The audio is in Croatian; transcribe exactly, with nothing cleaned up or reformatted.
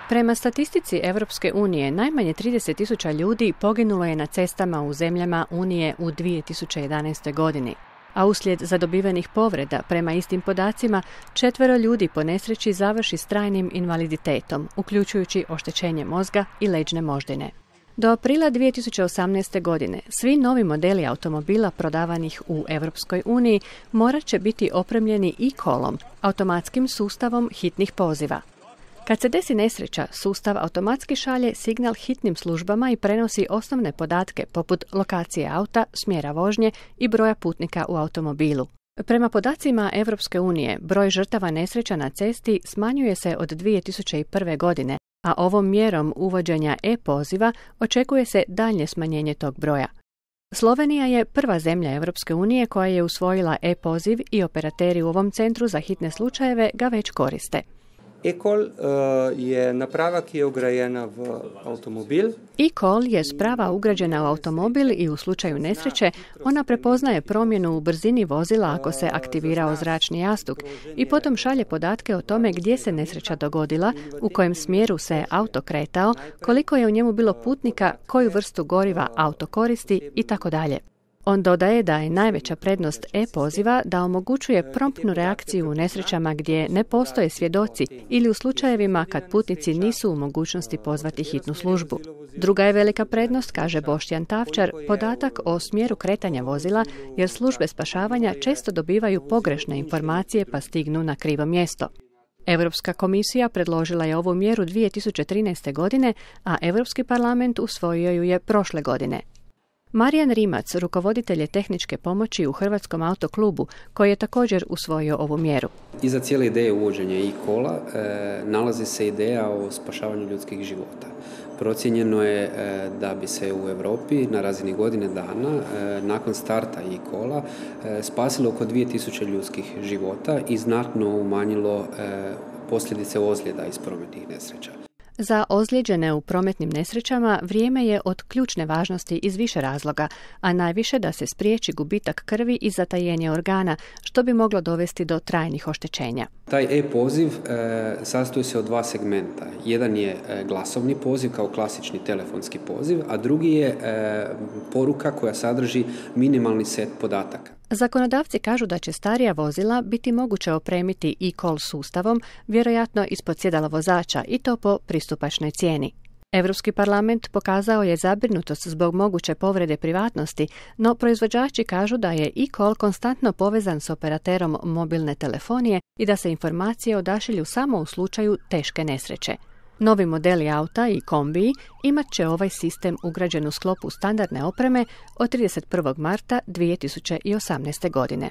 Prema statistici Europske unije, najmanje trideset tisuća ljudi poginulo je na cestama u zemljama Unije u dvije tisuće jedanaestoj. godini, a uslijed zadobivenih povreda, prema istim podacima, četvero ljudi po nesreći završi s trajnim invaliditetom, uključujući oštećenje mozga i leđne moždine. Do aprila dvije tisuće osamnaeste. godine svi novi modeli automobila prodavanih u Europskoj uniji morat će biti opremljeni e-callom, automatskim sustavom hitnih poziva. Kad se desi nesreća, sustav automatski šalje signal hitnim službama i prenosi osnovne podatke poput lokacije auta, smjera vožnje i broja putnika u automobilu. Prema podacima Europske unije, broj žrtava nesreća na cesti smanjuje se od dvije tisuće prve. godine, a ovom mjerom uvođenja e-poziva očekuje se daljnje smanjenje tog broja. Slovenija je prva zemlja Europske unije koja je usvojila e-poziv i operateri u ovom centru za hitne slučajeve ga već koriste. E-call uh, je naprava, ki je ugrajena v avtomobil. E-call je sprava ugrađena u automobil i u slučaju nesreće ona prepoznaje promjenu u brzini vozila ako se aktivirao zračni jastuk i potom šalje podatke o tome gdje se nesreća dogodila, u kojem smjeru se auto kretao, koliko je u njemu bilo putnika, koju vrstu goriva auto koristi i tako dalje. On dodaje da je najveća prednost e-poziva da omogućuje promptnu reakciju u nesrećama gdje ne postoje svjedoci ili u slučajevima kad putnici nisu u mogućnosti pozvati hitnu službu. Druga je velika prednost, kaže Boštjan Tavčar, podatak o smjeru kretanja vozila, jer službe spašavanja često dobivaju pogrešne informacije pa stignu na krivo mjesto. Europska komisija predložila je ovu mjeru dvije tisuće trinaeste. godine, a Europski parlament usvojio ju je prošle godine. Marijan Rimac, rukovoditelj je tehničke pomoći u Hrvatskom autoklubu, koji je također usvojio ovu mjeru. Iza cijele ideje uvođenja e-calla e, nalazi se ideja o spašavanju ljudskih života. Procijenjeno je e, da bi se u Europi na razini godine dana, e, nakon starta e-calla, e, spasilo oko dvije tisuće ljudskih života i znatno umanjilo e, posljedice ozljeda iz prometnih nesreća. Za ozlijeđene u prometnim nesrećama vrijeme je od ključne važnosti iz više razloga, a najviše da se spriječi gubitak krvi i zatajenje organa, što bi moglo dovesti do trajnih oštećenja. Taj e-poziv e, sastoji se od dva segmenta. Jedan je e, glasovni poziv kao klasični telefonski poziv, a drugi je e, poruka koja sadrži minimalni set podataka. Zakonodavci kažu da će starija vozila biti moguće opremiti e-call sustavom, vjerojatno ispod sjedala vozača, i to po pristupačnoj cijeni. Europski parlament pokazao je zabrinutost zbog moguće povrede privatnosti, no proizvođači kažu da je e-call konstantno povezan s operaterom mobilne telefonije i da se informacije odašilju samo u slučaju teške nesreće. Novi modeli auta i kombiji imat će ovaj sistem ugrađen u sklopu standardne opreme od trideset prvog marta dvije tisuće osamnaeste. godine.